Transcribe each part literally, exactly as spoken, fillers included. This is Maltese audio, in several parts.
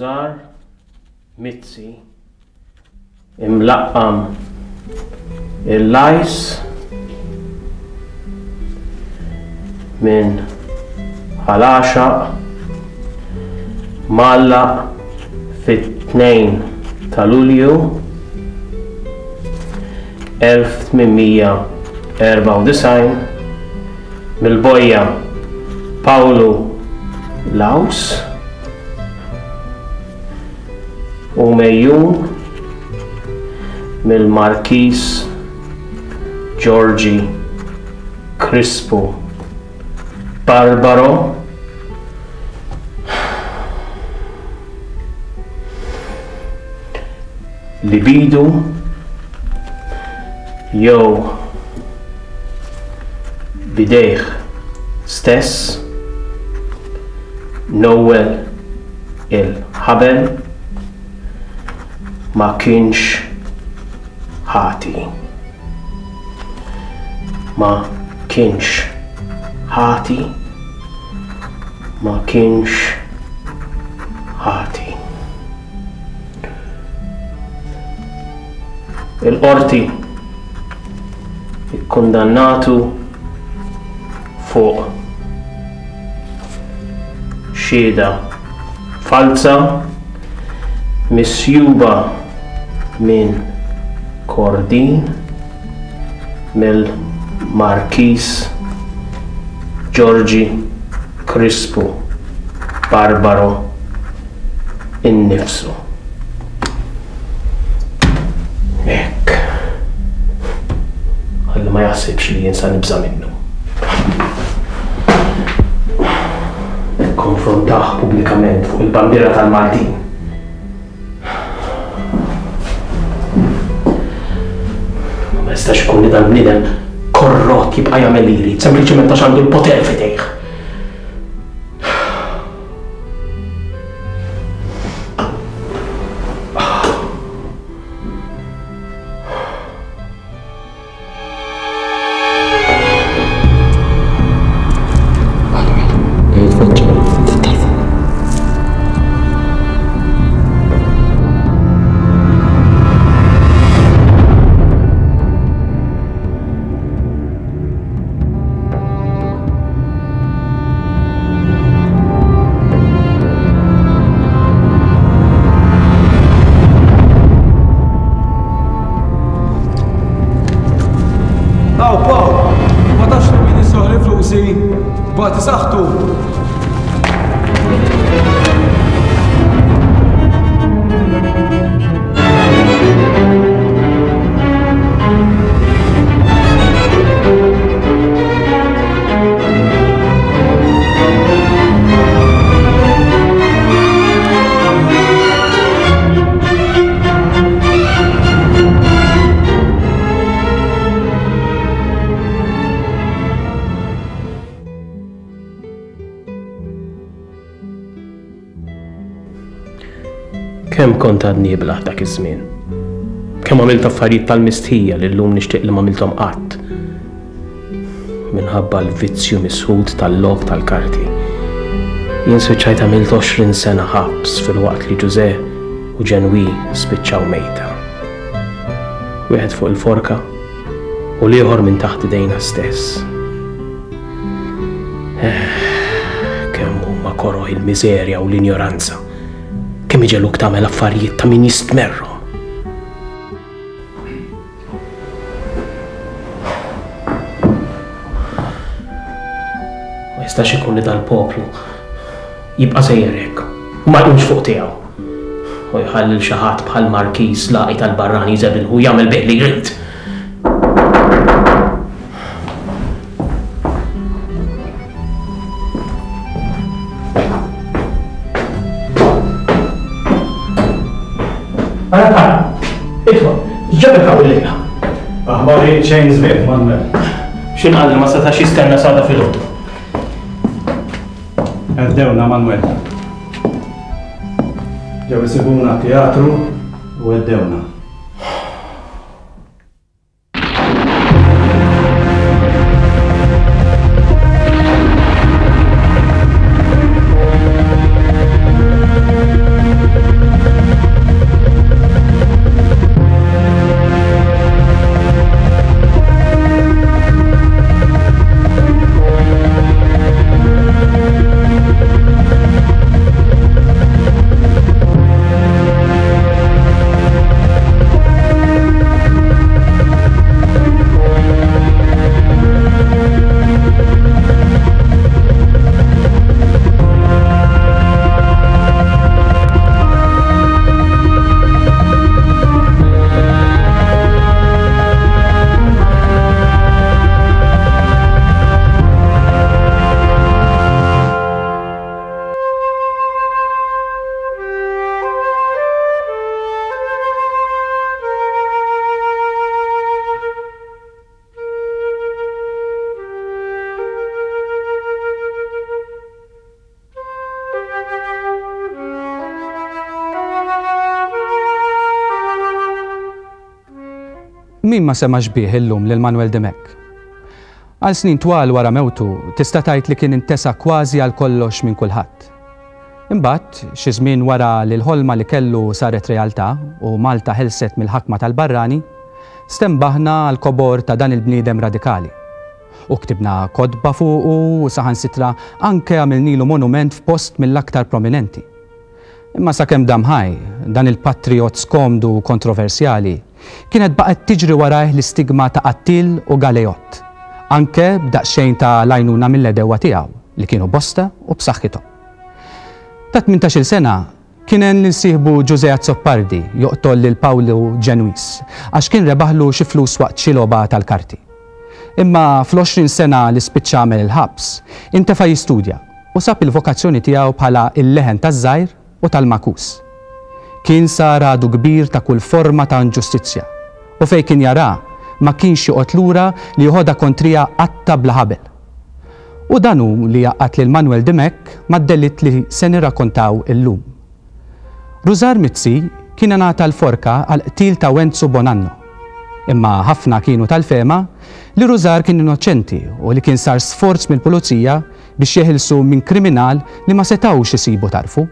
Rużar Mizzi imlaqqam il-Lajs minn Ħal Għaxaq mgħallaq fit-tnejn ta' Lulju elf tmien mija erbgħa u disgħin mill-bojja Pawlu Laws u mejjun mill-Markis Giorgi Crispu Barbaro li bidu jew bidejh stess Noel il-ħabel ma kienx ħati. Ma kienx ħati. Ma kienx ħati. Il-qorti ikkundannatu fuq xhieda falza misjuba minn Kordin mill-Markis Giorgi Crispu Barbaro innifsu. Hekk. Ħalli ma jaħsibx li jien sa nibża' minnu. Ikkonfrontah pubblikament fuq il-bandiera tal-Maltin. Ma jistax ikun li dal-bniedem korrott jibqa' jagħmel li jrid, sempliċement għax għandu l-poter f'idejh. Bati saħtu. Kemm kont għadni iblaħ dak iż-żmien. Kemm għamilt affarijiet tal-mistħija li llum nixtieq li m'għamilthom qatt. Minħabba l-vizzju misħud tal-logħob tal-karti. Jien spiċċajt għamilt għoxrin sena ħabs filwaqt li Ġużè u Ġenwi spiċċaw mejta. Wieħed fuq il-forka u l-ieħor minn taħt idejna stess. Kemm huma koroh il-miżerja u l-injoranza. Kemm iġeluk tagħmel affarijiet ta' min jistmerru. Ma jistax ikun li dal-poplu jibqa' sejjer hekk u ma jqumx fuq tiegħu. U jħalli lil xi ħadd bħal Markiż laqi tal-barrani jżebilħu u jagħmel bih li jrid. Ara, ara, idħol, x'ġabek hawn illejla? Aħbarijiet xejn sbieħ, Manuel. X'inqal li ma setax jistenna sada filgħodu? Għeddewna, Manuel. Ġew isibuna teatru u għeddewna. Min ma semax bih illum lil Manuel Dimech? Għal snin twal wara mewtu tista' tgħid li kien intesa kważi għal kollox minn kulħadd. Imbagħad, xi żmien wara li l-ħolma li kellu saret realtà u Malta ħelset mill-ħakma tal-barrani, stembaħna għal kobor ta' dan il-bniedem radikali. U ktibna kotba fuqu u saħansitra anke għamilnilu monument f'post mill-aktar prominenti. Imma sakemm dam ħaj, dan il-patriot skomdu u kontroversjali, kienet baqgħet tiġri warajh l-istigma ta' qattil u galeott, anke b'daqsxejn ta' lajnuna mill-edewwa tiegħu li kienu bosta u b'saħħithom. Ta' tmintax-il sena kien hemm lil sieħbu Ġużè Azzopardi joqtol lil Pawlu Ġenwis għax kien rebaħlu xi flus waqt xi logħba tal-karti. Imma fl-għoxrin sena li spiċċa għamel il-ħabs, intefa' jistudja u sab il-vokazzjoni tiegħu bħala il-leħen taż-żgħir u tal-makus. Kien sar għadu kbir ta' kull forma ta' inġustizzja u fejn kien jara ma kienx joqgħod lura li joħodha kontrija qatta bla ħabel. U dan hu li jaqgħad lil Manuel Dimech mad-delitt li se nirrakkontaw illum. Rużar Mizzi kien ingħata l-forka għal qtil ta' Wenzu Bonanno. Imma ħafna kienu tal-fema li Rużar kien innoċenti u li kien sar sforz mill-pulizija biex jeħilsu minn kriminal li ma setgħux isibu tarfu.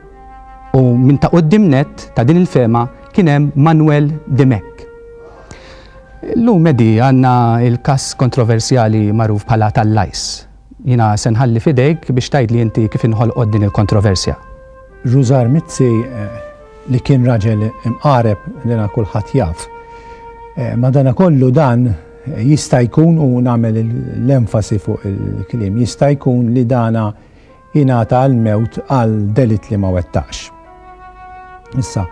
U minn ta' quddiem nett ta' din il-fema kien hemm Manuel Dimech. Illum Edi għandna il-każ kontroversjali magħruf bħala tal-Lajs. Jiena se nħalli f'idejk biex tgħidli inti kif inħolqot din il-kontroversja. Rużar Mizzi li kien raġel imqareb li na kulħadd jaf. Madanakollu dan jista' jkun, u nagħmel l-enfasi fuq il-kliem, jista' jkun li dana jingħata għal-mewt għal delitt li ma wettaqx. Issa,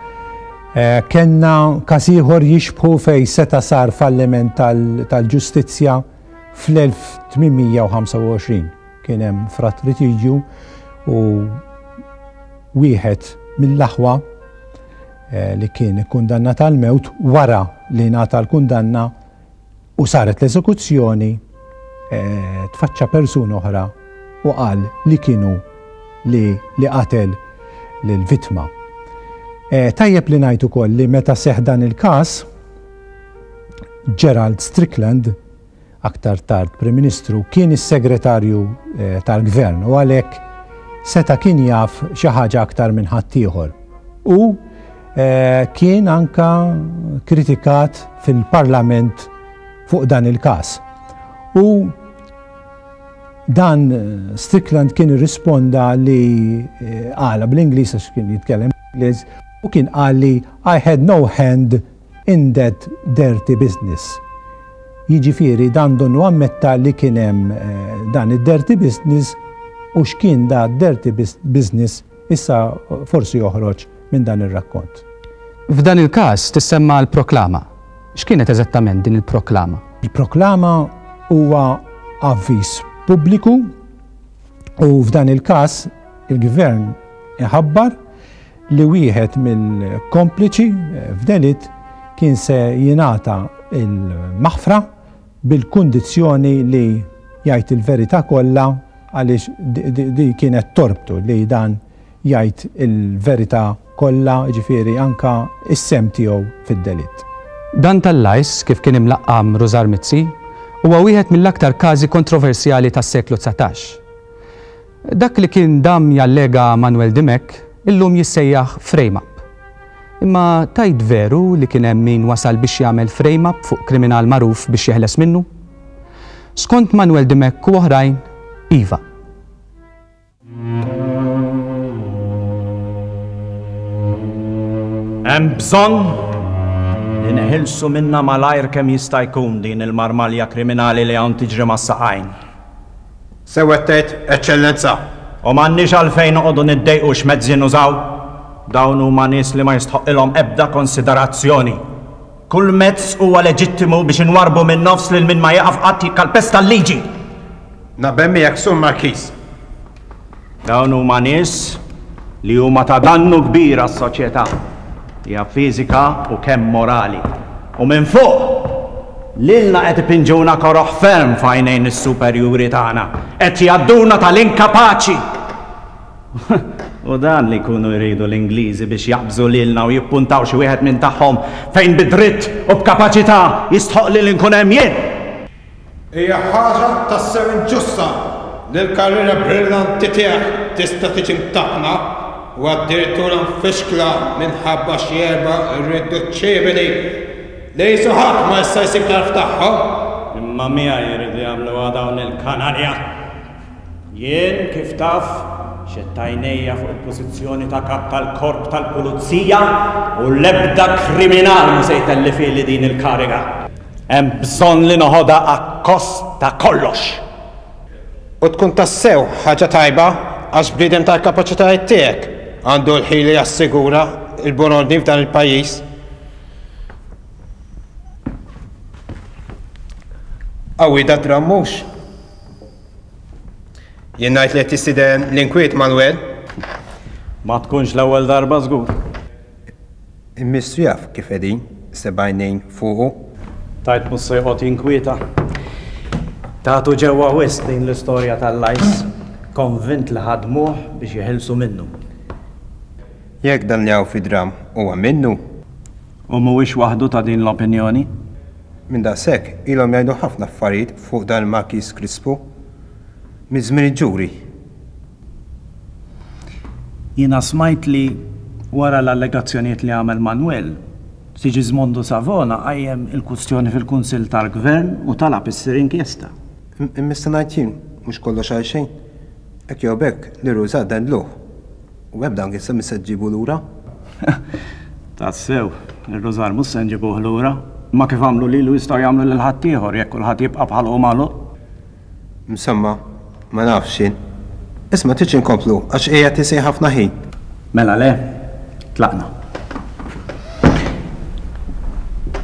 kellna każ ieħor jixbħu fej seta' sar falliment tal-ġustizzja fl-elf tmien mija u ħamsa u għoxrin. Kien hemm fratritiġju u wieħed mill-aħwa li kien ikkundannat għal-mewt wara li ngħata l-kundanna u saret l-eżekuzzjoni, tfaċċa persuna oħra u qal li kienu li, li qatel lill-vittma. Tajjeb li ngħid ukoll li meta seħħ dan il-każ, Gerald Strickland, aktar tard Prim Ministru, kien is-segretarju tal-Gvern u għalhekk seta' kien jaf xi ħaġa aktar minn ħaddieħor. U kien anka kritikat fil-Parlament fuq dan il-każ. U dan Strickland kien irrisponda li qala bl-Ingliż għax kien jitkellem Ingliż, u kien qal li I had no hand in that dirty business. Jiġifieri dan donnu ammetta li kien hemm dan id-dirty business, u x'kien da dirty business issa forsi joħroġ minn dan ir-rakkont. F'dan il-każ tissemma l-proklama. X'kienet eżattament din il-proklama? Il-proklama huwa avviż pubbliku u f'dan il-każ il-gvern iħabbar li wieħed mill-kompliċi f'delitt kien se jingħata il-maħfra bil-kundizzjoni li jgħid il-verità kollha, għaliex di kienet torbtu li dan jgħid il-verità kollha, ġifieri anka is-sem tiegħu fid-delitt. Dan tal-Lajs, kif kien imlaqqam Rużar Mizzi, huwa wieħed mill-aktar każi kontroversjali tas-seklu dsatax. Dak li kien dam jallega Manuel Dimech illum jissejjaħ frame-up. Imma tajt veru li kien hemm min wasal biex jagħmel frame-up fuq kriminal magħruf biex jeħles minnu? Skont Manuel Dimech u oħrajn, iva. Hemm bżonn li neħilsu minna malajr kemm jista' jkun din il-marmalja kriminali li hawn tiġri mas-saqajn. Sewwa tgħid, Eċċellenza. U m'għandniex għalfejn noqogħdu niddejqu x'mezzi nużaw. Dawn huma nies li ma jistħoqilhom ebda konsiderazzjoni. Kull mezz huwa leġittimu biex inwarbu minn nofs lil min ma jaqaf qatt jikkalpesta l-liġi. Naqbel miegħek, Sur Markiż. Dawn huma nies li huma ta' dannu kbir għas-soċjetà, hija fiżika u kemm morali. U minn fuq, lilna qed ipinġuna koroħ ferm f'għajnejn is-superjuri tagħna, qed jgħadduna tal-inkapaċi. U dan li jkunu jridu l-Ingliżi biex jaqbżu lilna u jippuntaw xi wieħed minn tagħhom fejn bidritt u b'kapaċità jistħoq li nkun hemm jien. Hija ħaġa tassew inġusta li l-karriera brillanti tiegħek tista' tiġi mtappna u addirittura mfixkla minħabba xi erba' irriduċibbli li qisu ħadd ma jista' jsib tarf tagħhom. Imma miegħi jridu jagħmluha dawn il-kanalja. Jien kif taf xett għajnejja fuq il-pożizzjoni ta' kap tal-korp tal-pulizija u l-ebda kriminal mhu se jtellifili din il-kariga. Hemm bżonn li noħodha akkost ta' kollox. U tkun tassew ħaġa tajba għax bniedem tal-kapaċitajiet tiegħek għandu l-ħila jassigura l-buon ordni f'dan il-pajjiż. Qawwi da dramm mhux? Jien ngħid li qed tistieden l-inkwiet, Manuel. Ma tkunx l-ewwel darba żgur. Il-Ministru jaf kif qegħdin seba' għajnejn fuqu. Tajt mhux se joqgħod jinkwieta. Tagħtu ġewwa wisq din l-istorja tal-lajs, konvint li ħadmuh biex jeħilsu minnu. Jekk dan li hawn fid-dramm huwa minnu. U mhuwiex waħdu ta' din l-opinjoni? Minn daqshekk ilhom jgħidu ħafna affarijiet fuq dan il-Marquis Crispo. Minn żmien il-ġuri. Jiena smajt li wara l-allegazzjonijiet li għamel Manuel, Sigismondo Savona qajjem il-kwistjoni fil-Kunsill tal-Gvern u talab issir inkjesta. Imma ngħid jien mhux kollox għal xejn. Hekk jew b'hekk li Rużar dendluh. U ebda inkjesta mhix se ġġibu lura. Tassew, ir-Rużar mhux se nġibuh lura. Imma kif għamlu lilu jistgħu jagħmlu lil ħaddieħor jekk kulħadd jibqa' bħal hu magħluq. Insomma, ma nafx jien. Isma' tridx inkomplu għax qiegħed isejħ ħafna ħin. Mela le, tlaqna.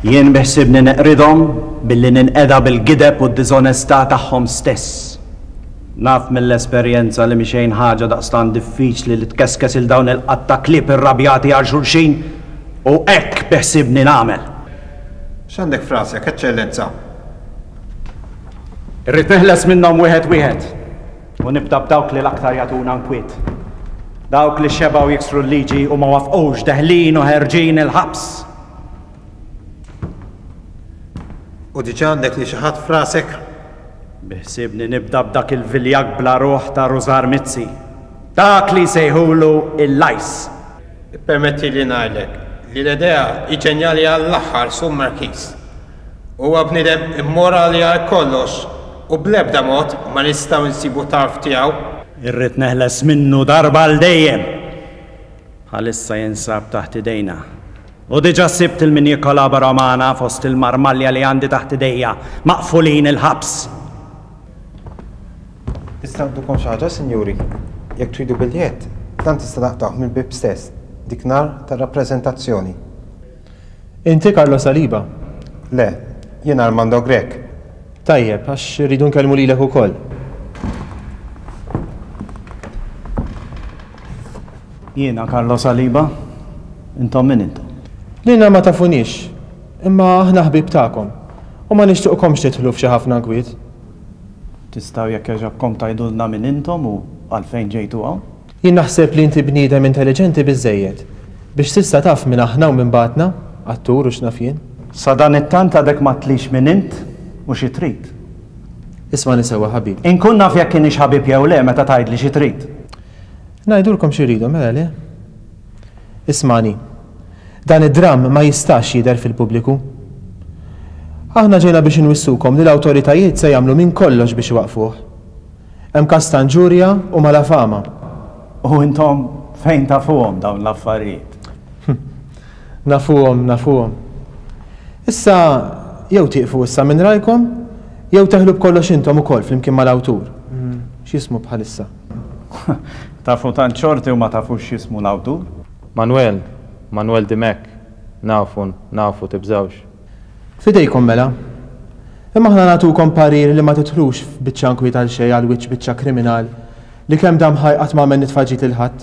Jien biħsibni neqridhom billi ninqeda bil-gideb u d-diżonestà tagħhom stess. Naf mill-esperjenza li mhi xejn ħaġa daqstant diffiċli li tkeskes il dawn il-qatta klieb irrabjati għal xulxin u hekk biħsibni nagħmel. X'għandek frasek, Eċċellenza? Irrid neħles minnhom wieħed wieħed u nibda b'dawk li l-aktar jagħtuna nkwiet. Dawk li xebgħu jiksru l-liġi u ma wafqux deħlin u ħerġin il-ħabs. U diġà għandek li xi ħadd frasek? Biħsibni nibda b'dak il-viljak bla ruħ ta' Rużar Mizzi. Dak li jsejħulu il-lajs. Ippermetti li ngħidlek li l-idea hi ġenjali għall-aħħar, Sur Marquis. Huwa bniedem immorali għal kollox u bl-ebda mod ma nistgħu nsibu tarf tiegħu. Irrid neħles minnu darba għal dejjem. Bħalissa jinsab taħt idejna. U diġà sibt il-min jikkolabora magħna fost il-marmalja li għandi taħt idejja, maqfulin il-ħabs. Tista' ngħidukom xi ħaġa, sinjuri? Jekk tridu biljett, dan tista' taqtgħuh mill-bib stess, dik nhar tar-rappreżentazzjoni. Inti Carlo Saliba? Le, jien Armando Grech. Tajjeb, għax irridu nkellmu lilek ukoll. Jiena Carlo Saliba, intom min intom? Lilna ma tafunix, imma aħna ħbieb tagħkom u ma nixtieqkomx tidħlu f'xi ħafna nkwiet. Tistgħu jekk jogħġobkom tgħidulna min intom u għalfejn ġejtu hawn? Jien naħseb li inti bniedem intelligenti biżżejjed biex tista' taf min aħna u min bagħatna, attur u x'naf jien. Sa dan it-tant għadek ma tlix min int u xi trid. Isma' sewwa ħabib. Inkun naf jekk kienx ħabib jew le meta tgħidli xi trid. Ngħidulkom xi rridu, mela le? Ismani. Dan id-dramm ma jistax jidher fil-pubbliku. Aħna ġejna biex inwissukom li l-awtoritajiet se jagħmlu minn kollox biex iwaqfuh. Hemm każ ta' inġurja u malafama. U intom fejn tafuhom dawn l-affarijiet? Nafuhom, nafuhom. Issa jew tieqfu issa minn rajkom, jew teħlu b'kollox intom ukoll flimkien mal-awtur. X'jismu bħalissa? Tafu tant xorti u ma tafux x'jismu l-awtur? Manuel, Manuel Dimech, nafu, nafu tibżawx. Fidejkom mela. Imma aħna nagħtukom parir li ma tidħlux f'biċċa nkwiet għal xejn għal wiċċ biċċa kriminal li kemm dam ħaj qatt ma għamel nitfaġit lil ħadd.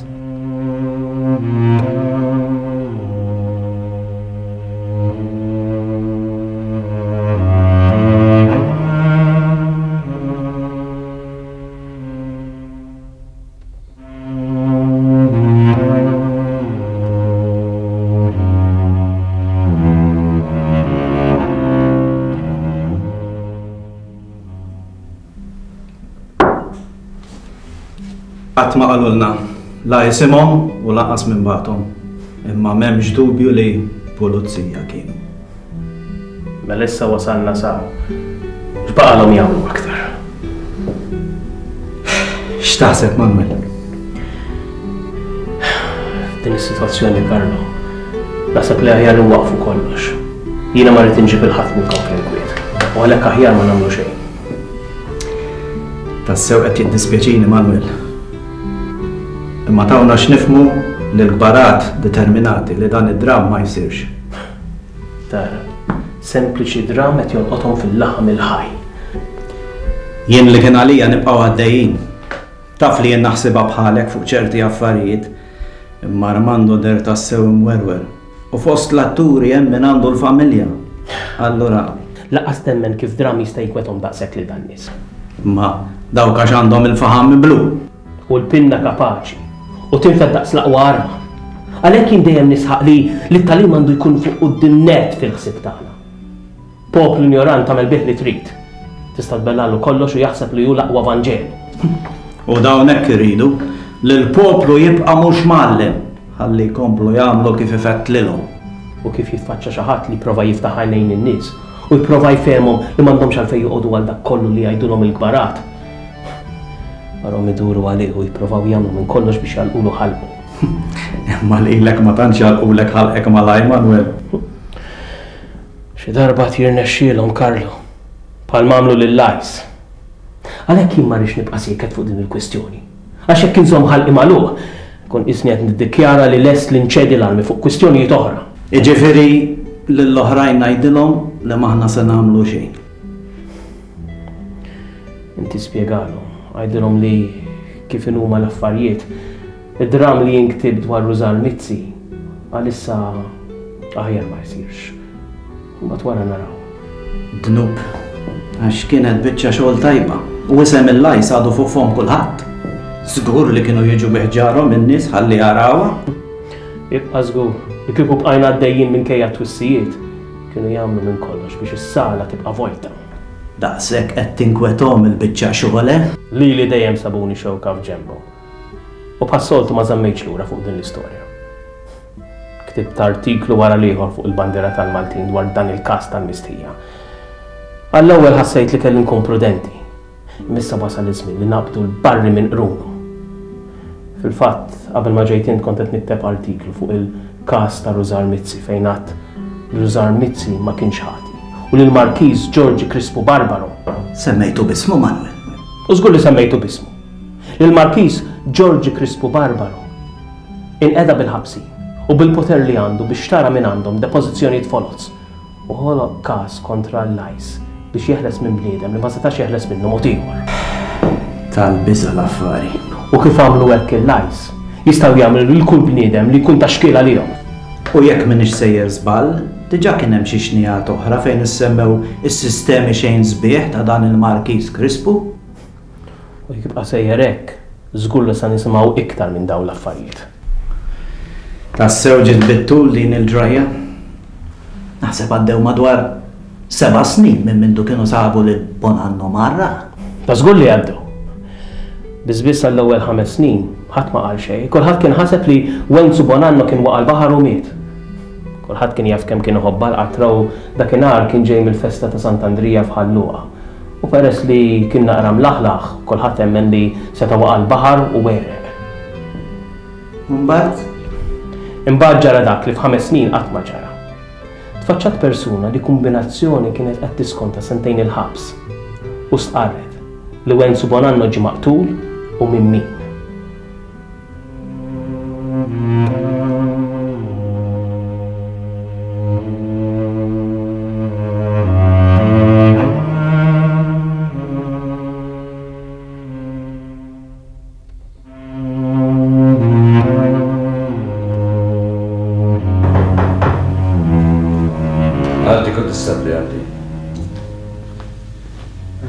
Qatt ma qalulna la jisimhom u lanqas minn bagħthom, imma m'hemmx dubju li pulizija kienu. Mela issa wasalna sa x'baqalhom jagħmlu aktar. X'taħseb, Manuel? F'din is-sitwazzjoni, Carlo, naħseb li aħjar nwaqfu kollox. Jiena ma rrid inġib il-ħadd minnkom fl-inkwiet, u għalhekk aħjar ma nagħmlu xejn. Tassew qed jiddispjaċini, Manuel. Imma tawna x'nifhmu li l-kbarat determinati li dan id-dramm ma jsirx. Tara, sempliċi dramm qed jolqothom fil-laħam il-ħaj. Jien li kien għalija nibqgħu għaddejjin. Taf li jien naħsibha bħalek fuq ċerti affarijiet, imma Armando der tassew imwerwer. U fost l-atturi hemm min għandu l-familja. Allura Lanqas temmen kif dramm jista' jinkwetahom daqshekk lil dan nies. Ma dawk għax għandhom il-faħam blu. U l-pinna kapaċi u tinfed daqs l-aqwa arma. Għalhekk jien dejjem nisħaq li t-tagħlim għandu jkun fuq quddiem nett fil-ħsieb tagħna. Poplu ignorant tagħmel bih li trid. Tista' tbellalu kollox u jaħseb li hu l-aqwa Vanġelu. U dawn hekk iridu li l-poplu jibqa' mhux mgħallem ħalli jkomplu jagħmlu kif ifettlilhom. U kif jitfaċċa xi ħadd li jprova jiftaħ għajnejn in-nies u jprova jfehmhom li m'għandhomx għalfejn joqogħdu għal dak kollu li jgħidulhom il-kbarat. Barhom iduru għalih u jipprovaw jagħmlu minn kollox biex jagħlqulu ħalqu. Imma lilek ma tantx jagħlqulek ħalqek malaj, Manuel. Xi darba jirnexxielhom, Carlo, bħal m'għamlu lil Lajs. Għalhekk jien ma rridx nibqa' sieket fuq din il-kwistjoni. Għax jekk inżomm ħalqi magħluq, nkun qisni qed niddikjara li lest li nċedi l-armi fuq kwistjonijiet oħra. Jiġifieri lill-oħrajn ngħidilhom li m'aħna se nagħmlu xejn. Inti spjegalhom, għidilhom li kif inhuma l-affarijiet, id-dram li jinktib dwar Rużar Mizzi għalissa aħjar ma jsirx. Mbagħad wara naraw. Dnub, għax kienet biċċa xogħol tajba u isem il-Lajs għadu fuq fom kulħadd. Żgur li kienu jiġu biħġarhom in-nies ħalli jarawha. Ibqa' żgur li kieku bqajna għaddejjin minkejja t-twissijiet, kienu jagħmlu minn kollox biex is-sala tibqa' vojta. Daqshekk qed tinkwethom il-biċċa xogħol, eh? Lili dejjem sabuni xewka f'ġenbhom. U bħas-soltu ma żammejtx lura fuq din l-istorja. Ktibt artiklu wara l-ieħor fuq il-bandiera tal-Maltin dwar dan il-każ tal-mistħija. Għall-ewwel ħassejt li kelli nkun prudenti. Imma issa wasal iż-żmien li naqbdu l-barri minn qrunu. Fil-fatt, qabel ma ġejt int kont qed nikteb artiklu fuq il-każ ta' Rużar Mizzi fejn għadt li Rużar Mizzi ma kienx ħati u li l-Markiż Giorgi Crispu Barbaro. Semmejtu b'ismu, Manuel. U żgur li semmejtu b'ismu. Li l-Markiż Giorgi Crispu Barbaro inqeda bil-ħabsi u bil-poter li għandu biex tara minn għandhom depożizzjonijiet foloz u ħoloq każ kontra l-Lajs biex jeħles minn bniedem li ma setax jeħles minnu mod ieħor. Tal-biża' l-affari. U kif għamlu hekk il-Lajs, jistgħu jagħmlu lil kull bniedem li jkun ta' xkiel għalihom. U jekk m'iniex sejjer żball, diġà kien hemm xi xnijat oħra fejn issemmew is-sistemi xejn sbieħ ta' dan il-Markiż Crispu. U jekk jibqa' sejjer hekk, żgur li sa nisimgħu iktar minn dawn l-affarijiet. Tassew ġiet bit-tul din il-ġrajja. Naħseb għaddew madwar seba' snin minn mindu kienu sabu lil Bonanno marra. Ta' żgur li għaddew. Biss biss għall-ewwel ħames snin ħadd ma qal xejn, kulħadd kien ħaseb li Wenzu Bonanno kien waqa' l-baħar u miet. Kulħadd kien jaf kemm kien iħobb l-qatra u dakinhar kien ġej mill-festa ta' Sant'Andrija f'Ħal Luqa. U peress li kien naqra mlaħlaħ, kulħadd emmen li seta' waqa' l-baħar u għereq. Mbagħad? Imbagħad ġara dak li f'ħames snin qatt ma ġara. Tfaċċat persuna li kombinazzjoni kienet qed tiskonta sentejn il-ħabs u stqarret li Wenzu Bonanno ġie maqtul u minn min. Għaddi, kontistabbli, għaddi.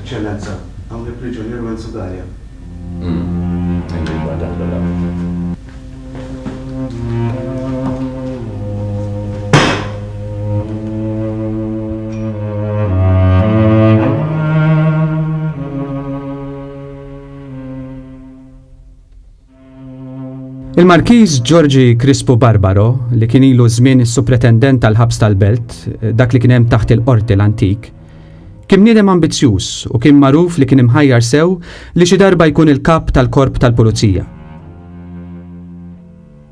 Eċċellenza, hawn il-priġunier Wenzu Galea. Il-Markiż Ġorġi Crispu Barbaro, li kien ilu żmien is-supretendent tal-ħabs tal-Belt, dak li kien hemm taħt il-Qorti l-antik, kien bniedem ambizzjuż u kien magħruf li kien imħajjar sew li xi darba jkun il-kap tal-korp tal-pulizija.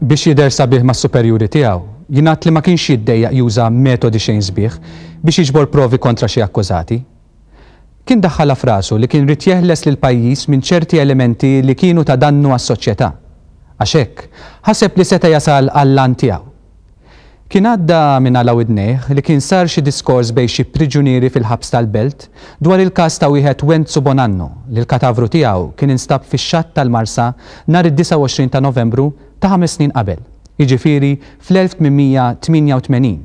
Biex jidher sabiħ mas-superjuri tiegħu, jingħad li ma kienx jiddejjaq juża metodi xejn sbieħ biex jiġbor provi kontra xi akkużati. Kien daħħalha f'rasu li kien ried jeħles lill-pajjiż minn ċerti elementi li kienu ta' dannu għas-soċjetà. Għax hekk, ħaseb li seta' jasal għall-għan tiegħu. Kien għadda minn għala widnejh li kien sar xi diskors bejn xi priġunieri fil-ħabs tal-Belt dwar il-każ ta' wieħed Wenzu Bonanno li l-katavru tiegħu kien instab fix-xatt tal-Marsa nhar id-disgħa u għoxrin ta' Novembru ta' ħames snin qabel, jiġifieri fl-elf tmien mija tmienja u tmenin,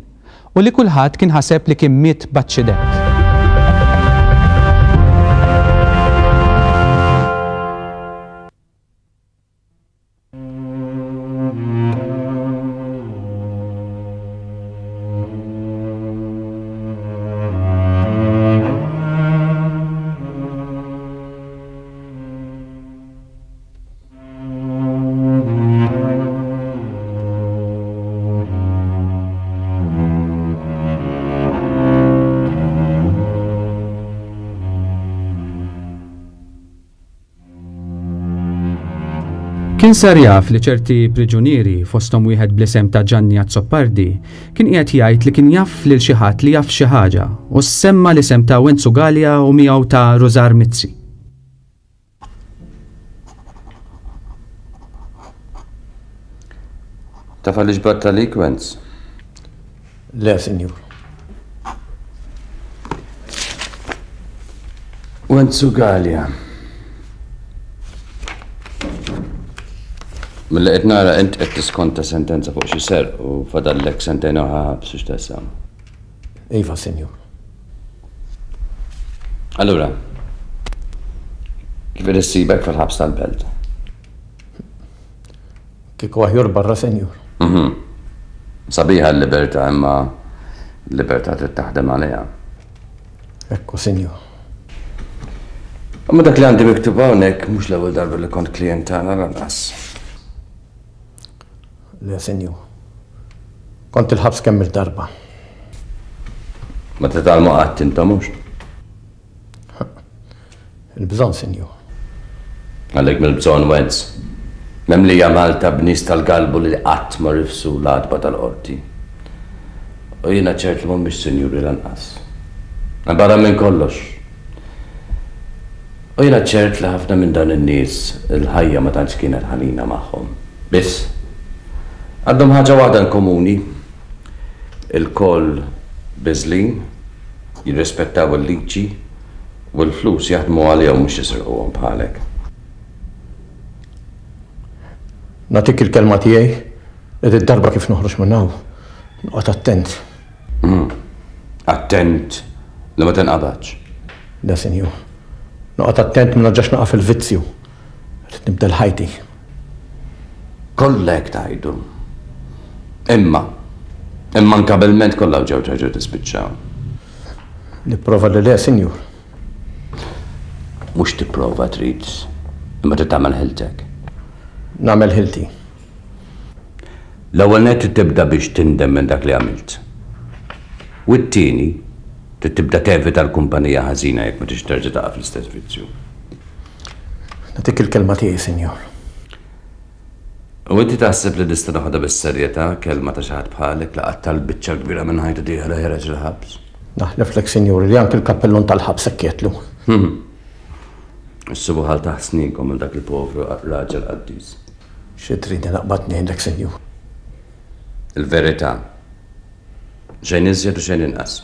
u li kulħadd kien ħaseb li kien miet b'aċċident. Kien sar jaf li ċerti priġunieri, fosthom wieħed bl-isem ta' Ġanni Azzopardi, kien qiegħed jgħid li kien jaf lil xi ħadd li jaf xi ħaġa u semma l-isem ta' Wenzu Galea u miegħu ta' Rużar Mizzi. Taf għaliex batta lik, Wenz? Le, sinjur. Wenzu Galea. Mill-li qed nara int qed tiskonta sentenza fuq xi serq u fadallek sentejn oħra ħabs u x'taqsam. Iva, sinjur. Allura, kif qed issibek fil-ħabs tal-Belt? Kieku aħjar barra, sinjur. Mhm. Sabiħa l-libertà, imma l-libertà trid taħdem għaliha. Ekku, sinjur. Imma dak li għandi miktub hawnhekk mhux l-ewwel darba li kont klient tagħna lanqas. Le, sinjur. Kont il-ħabs kemm il-darba. Ma titgħallmu qatt intom mhux? Il-bżonn, sinjur. Għalhekk mill-bżonn, Wenz. Memlija Malta b'nies tal-galbu li qatt ma rifsu l-għatba tal-qorti. U jiena ċert li mhumiex sinjuri lanqas. Barra minn kollox. U jiena ċert li ħafna minn dawn in-nies il-ħajja ma tantx kienet ħanina magħhom. Biss għandhom ħaġa waħda in komuni. Il-koll biżlin, jirrispettaw il-liġi u l-flus jaħdmu għalihom mhux jisirquhom bħalek. Nagħtik il-kelma tiegħi li d-darba kif noħroġ minn hawn, noqgħod attent. Mm. Attent li ma tinqabadx. Le, sinjur. Noqgħod attent ma nerġax naqa' fil-vizzju. Rrid nibdel ħajti. Kollha hekk tgħidu. Imma, imma inkabilment kollha ġew terġgħu tispiċċaw. Nipprova li le, sinjur. Mhux tipprova trid, imma trid tagħmel ħiltek. Nagħmel ħilti. L-ewwel nett trid tibda biex tindem minn dak li għamilt. U t-tieni, trid tibda tevita l-kumpanija ħażina jekk ma tridx terġa' taqa' fl-istess vizzju. Nagħtik il-kelma tiegħi, sinjur. U inti taħseb li nista' noħodha bis-serjetà kelma ta' xi ħadd bħalek li qatt tal-biċċa kbira minn ħajtu dieħla ħireġ il-ħabs? Naħleflek, sinjur, li anke l-kappellun tal-ħabs hekk jgħidlu. Hmm. Issibu ħal taħt sninkom minn dak il-povru raġel qaddis. Xi tridni naqbad ngħidlek, sinjur? Il-verità. Xejn iżjed u xejn inqas.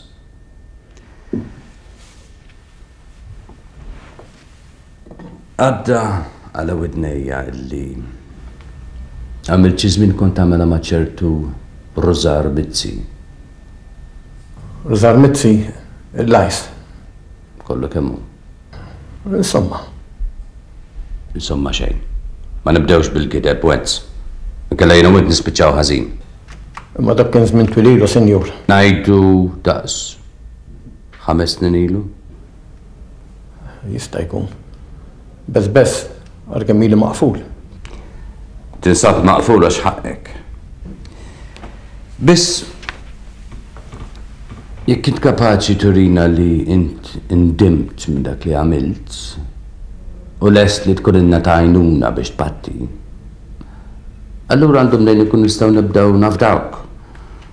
Għadda għala widnejja illi għamilt xi żmien kont tagħmilha ma' ċertu Rużar Mizzi. Rużar Mizzi, il-lajs. Kollu kemm hu. Insomma. Insomma xejn. Ma nibdewx bil-gideb, Wenz. Inkella jiena u int nispiċċaw ħażin. Imma dak kien żmien twil ilu, sinjur. Ngħidu daqs ħames snin ilu? Jista' jkun. Bess bess, għal kemm ili maqful. Tinsab maqful għax ħaqqek. Biss jekk int kapaċi turina li int indimt minn dak li għamilt u lest li tkun ilna ta' għajnuna biex tpatti, allura għandhom mnejn ikun nistgħu nibdew nafdawk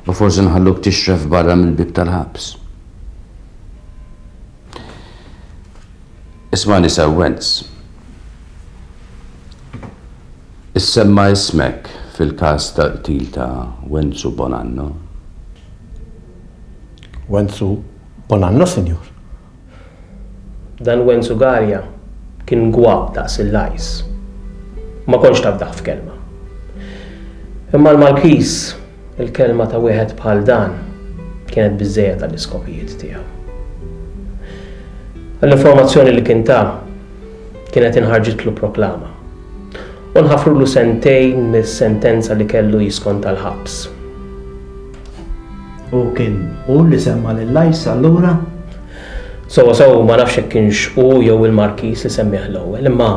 u forsi nħalluk tixref barra mill-bieb tal-ħabs. Ismani sew, Wenz. Issemma ismek fil-każ tal-qtil ta' Wenzu Bonanno. Wenzu Bonanno, sinjur? Dan Wenzu Galea kien gwab daqs il-lajs. Ma kontx tafdaħ f'kelma. Imma l-Markiż, il-kelma ta' wieħed bħal dan kienet biżżejjed għall-iskopijiet tiegħu. L-informazzjoni li kien ta' kienet inħarġitlu proklama. U nħafrulu sentejn mis-sentenza li kellu jiskonta l-ħabs. U kien hu li semma lil Lajs allura? Sewwa sew ma nafx jekk kienx hu jew il-Markiż li semmih l-ewwel, imma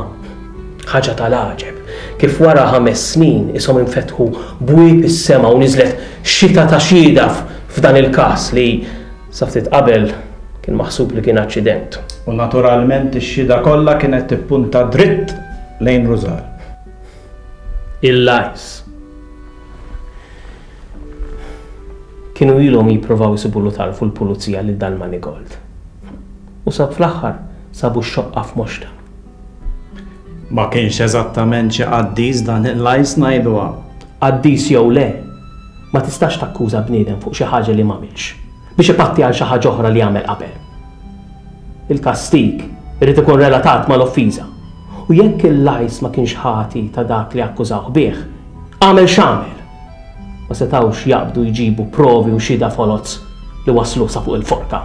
ħaġa tal-għaġeb kif wara ħames snin ishom infetħu bwieb is-sema u niżlet xita ta' xhieda f'dan il-każ li sa ftit qabel kien maħsub li kien aċċident. U naturalment ix-xhieda kollha kienet tippunta dritt lejn Rużar. Il-Lajs. Kienu ilhom jippruvaw isibulu tarfu l-pulizija lil dan Manigold. U sab fl-aħħar sabu x-xoqqa f'moxta. Ma kienx eżattament xi qaddis dan il-Lajs ngħiduha. Qaddis jew le, ma tistax takkuża bniedem fuq xi ħaġa li m'għamilx biex ipatti għal xi ħaġa oħra li għamel qabel. Il-kastig irid ikun relatat mal-offiża. U jekk il-Lajs ma kienx ħati ta' dak li akkużawh bih, għamel x'għamel. Ma setgħux jaqbdu jġibu provi u xhieda foloz li waslu sa fuq il-forka.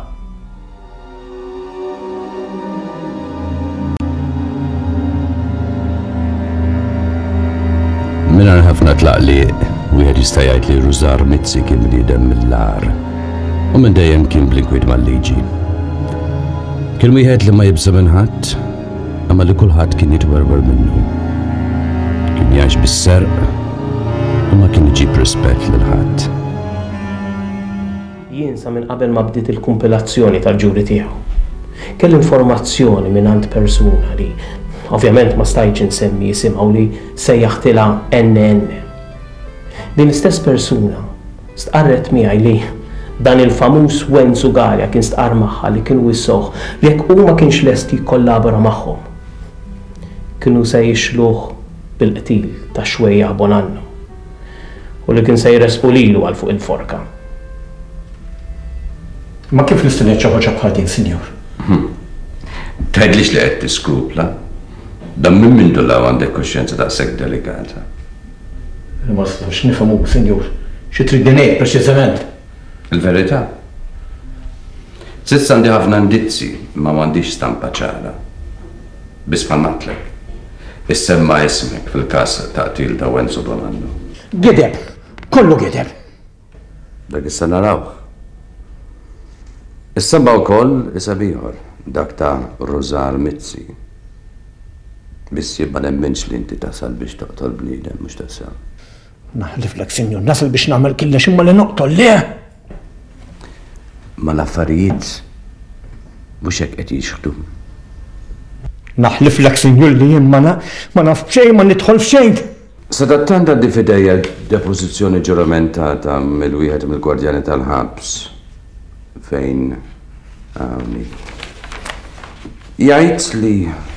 Mingħajr ħafna tlaqliq, wieħed jista' jgħid li Rużar Mizzi kien bniedem mill-agħar u minn dejjem kien bl-inkwiet mal-liġi. Kien wieħed li ma jibża' minn ħadd, imma li kulħadd kien jitwerwer minnu. Kien jgħix bis-serq u ma kien iġib rispett lil ħadd. Jien sa minn qabel ma bdiet il-kumpilazzjoni tal-ġuri tiegħu. Kelli informazzjoni minn għand persuna li ovvjament ma stajtx insemmi jisimha u li sejjaħtilha N N. Din l-istess persuna stqarret miegħi li dan il-famuż Wenzu Galea kien stqarr magħha li kienu wissoh li jekk hu ma kienx lest jikkollabora magħhom, kienu se jixluh bil-qtil ta' Xwejjaħ Bonanno u li kien se jresqu lilu għal fuq il-forka. Ma kif nista' ngħid xi ħaġa bħal din, sinjur? Tgħidlix li qed tiskrupla. Dan minn mindu law għandek kuxjenza daqshekk delikata. Ma nistax nifhmu, sinjur. Xi tridni ngħid preċiżament? Il-verità. S'issa għandi ħafna indizzi, imma m'għandix stampa ċara. Biss bħal ngħidlek. Issemma ismek fil-każ ta' qtil ta' Wenzu Bonanno. Gideb! Kollu gideb! Dak issa narawh. Issemma wkoll isem ieħor, dak ta' Rużar Mizzi. Biss jien ma nemminx li inti tasal biex toqtol bniedem, mhux tasal. Naħliflek, sinjur, nasal biex nagħmel killex imma li noqtol le! Ma l-affarijiet mhux hekk qed jixħdu. Naħliflek, sinjur, li jien ma na-, ma naf b'xejn, ma nidħol f'xejn. Sadattant għandi f'idejja depożizzjoni ġuramentata mill-wieħed mill-gwardjani tal-ħabs fejn hawnhi. Jgħid li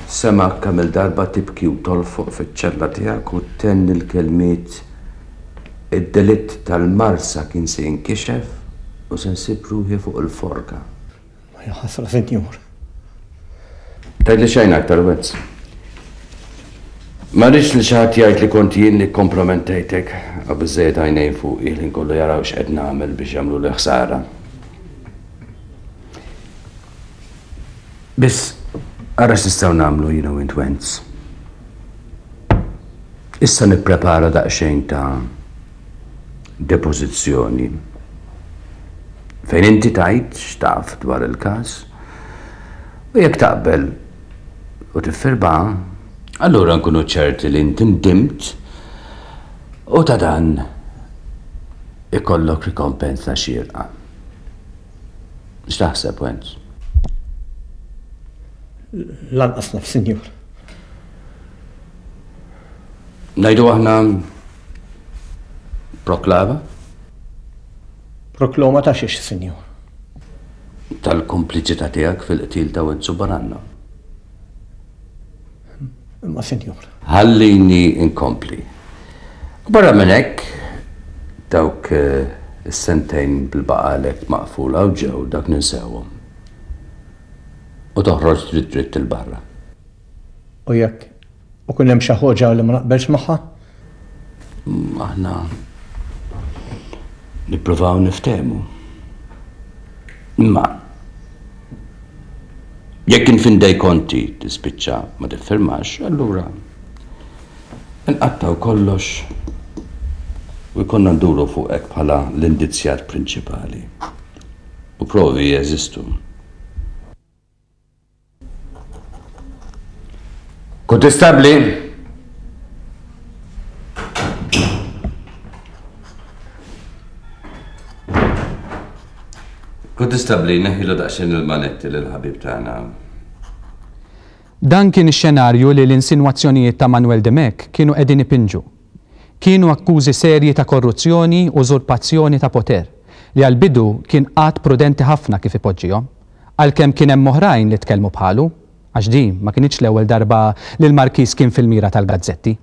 sema kemm il-darba tibki u tolfoq fiċ-ċella tiegħek u tenni l-kelmiet id-delitt tal-Marsa kien se jinkixef u se nsib ruħi fuq il-forka. Ma jaħasra, sinjur. Tgħidli xejn aktar, Wenz. Ma rridx li xi ħadd jgħid li kont jien li kompromettejtek, għaw biżżejjed għajnejn fuqi li nkollu jaraw x'qed nagħmel biex jagħmlu li ħsara. Biss ara x'nistgħu nagħmlu jiena u int, Wenz. Issa nipprepara daqsxejn ta' depożizzjoni fejn inti tgħid x'taf dwar il-każ u jekk taqbel u tiffirma, allura nkunu ċerti li inti ndimt U ta' dan ikollok rikompensa xierqa. X'taħseb, Wenz? Lanqas naf, sinjur. Ngħidu aħna proklama? Proklama ta' xiex, sinjur? Tal-kompliċità tiegħek fil-qtil ta' Wenzu Bonanno. Imma, sinjur. Ħallini inkompli. U barra minn hekk, dawk is-sentejn bil-baqalek maqfula u ġew dak ninsewhom. U toħroġ dritt dritt il-barra. U jekk u kun hemm xi ħoġa li ma naqbelx magħha? Aħna nippruvaw niftehmu. Imma jekk infindej konti tispiċċa ma tiffirmax, allura nqattaw kollox u jkollna nduru fuqek bħala l-indizzjat prinċipali. U provi jeżistu. Kontestabli! Kontestabli, neħilu daqsxejn il-manetti lill-ħabib tagħna. Dan kien ix-xenarju li l-insinwazzjonijiet ta' Manuel Dimech kienu qegħdin ipinġu. Kienu akkużi serji ta' korruzzjoni u użurpazzjoni ta' poter li għal-bidu kien qatt prudenti ħafna kif ipoġġihom, għalkemm kien hemm oħrajn li tkellmu bħalu, għax din ma kinitx l-ewwel darba li l-Markiż kien fil-mira tal-gazzetti.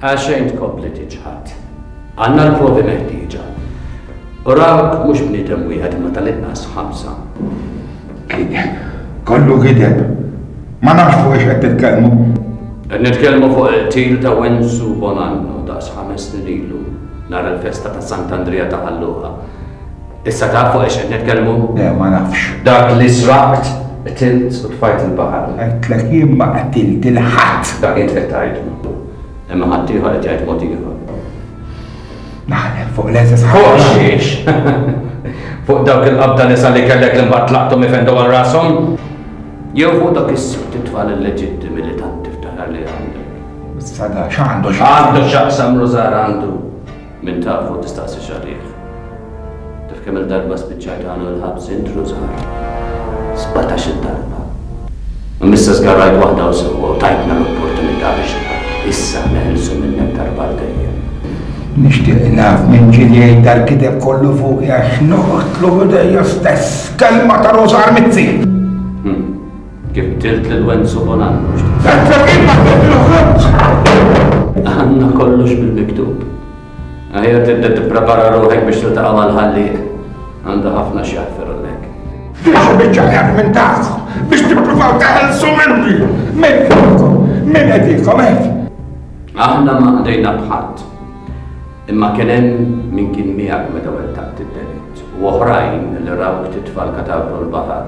Għaxejn tkompli tiġħad. Għandna l-provi meħtieġa. U rawk mhux bniedem wieħed imma tal-inqas ħamsa. Gideb, kollu gideb. Ma nafx fuq ix qed titkellmu. Qed nitkellmu fuq il-qtil ta' Wenzu Bonanno daqs ħames snin ilu nhar il-festa ta' Sant'Andrija ta' Ħal Luqa. Issa taf fuq ix qed nitkellmu? Le, ma nafx. Dak li sraqt, qtilt u tfajt il-baħar. Għedtlek jien ma qtilt il-ħadd. Dak int qed tgħidu. Imma ħadd ieħor qed jgħid mod ieħor. Naħlef fuq l-eżis Fuq xiex? Fuq dawk il-qabda nisa li kellek li mbagħad tlaqthom ifendu għal rashom? Jew fuq dak is-sitt it-tfal illeġittimi li tant tiftaħar li għandek. Issa da x'għandu x'jaqsam? Għandu x'jaqsam Rużar għandu. Min tafu tistaqsix għalih. Taf kemm il-darba spiċċajt għandu l-ħabs int Rużar? Sbatax-il darba. Imma issa żgarrajt waħda u sewwa u tajtna l-opportunità biex issa neħilsu minnek darba għal dejjem. Nixtieq naf minn ġieli jgħid dal-kiteb kollu fuqi għax noqtlu b'idejja stess. Kelma ta' Rużar Mizzi. Kif qtilt lil Wenzu Bonanno x'taqsam? Għedtlek jien ma qtiltlu ħadd! Għandna kollox bil-miktub. Aħjar tibda tipprepara ruħek biex tiltaqa' mal-ħallieq. Għandha ħafna x'jaħfirlek. Din xi biċċa ħjar minn tagħkom biex tippruvaw teħelsu minni. Min fuqkom, min qed jikkomet. Aħna ma qdejna b'ħadd. Imma kien hemm min kien miegħek meta wettaqt id-delitt u oħrajn li rawk titfa' l-katavru l-baħar.